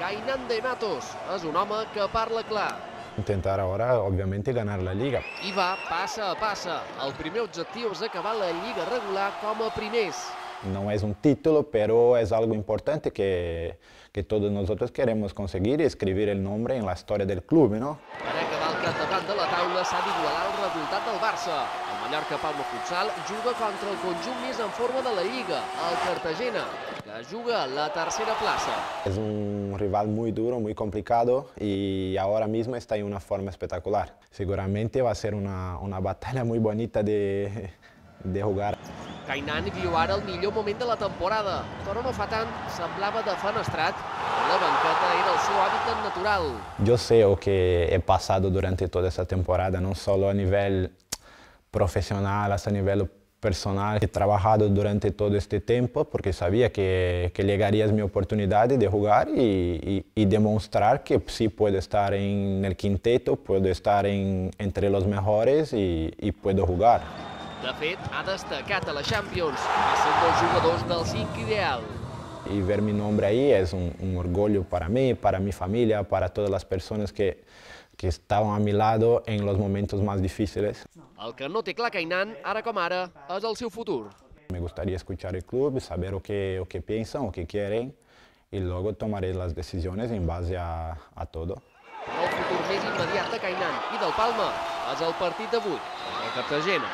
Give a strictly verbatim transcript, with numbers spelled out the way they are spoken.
Kainan de Matos és un home que parla clar. Intentar ahora, obviamente, ganar la Liga. I va passa a passa. El primer objectiu és acabar la Lliga regular com a primers. No es un título, pero es algo importante que, que todos nosotros queremos conseguir y escribir el nombre en la historia del club, ¿no? Per acabar al capdavant de la taula s'ha d'igualar el resultat del Barça. El Mallorca Palma Futsal juga contra el conjunt més en forma de la Lliga, el Cartagena, que juga a la tercera plaça. Es un rival muy duro, muy complicado y ahora mismo está en una forma espectacular. Seguramente va a ser una, una batalla muy bonita de, de jugar. Kainan viu ara el millor moment de la temporada, però no fa tant semblava defenestrat i la banqueta era el seu hàbitat natural. Yo sé lo que he pasado durante toda esta temporada, no solo a nivel profesional, hasta a nivel personal. He trabajado durante todo este tiempo porque sabía que, que llegaría mi oportunidad de jugar y, y, y demostrar que sí puedo estar en el quinteto, puedo estar en, entre los mejores y, y puedo jugar. De fet, ha destacat a la Champions, és un dels jugadors del cinc ideal. Y ver mi nombre ahí es un, un orgullo para mí, para mi familia, para todas las personas que, que estaban a mi lado en los momentos más difíciles. El que no té clar Kainan, ara com ara, és el seu futur. Me gustaría escuchar el club, saber lo que, lo que piensan, lo que quieren y luego tomaré las decisiones en base a, a todo. Però el futur més immediat de Kainan i del Palma és el partit d'avui contra el Cartagena.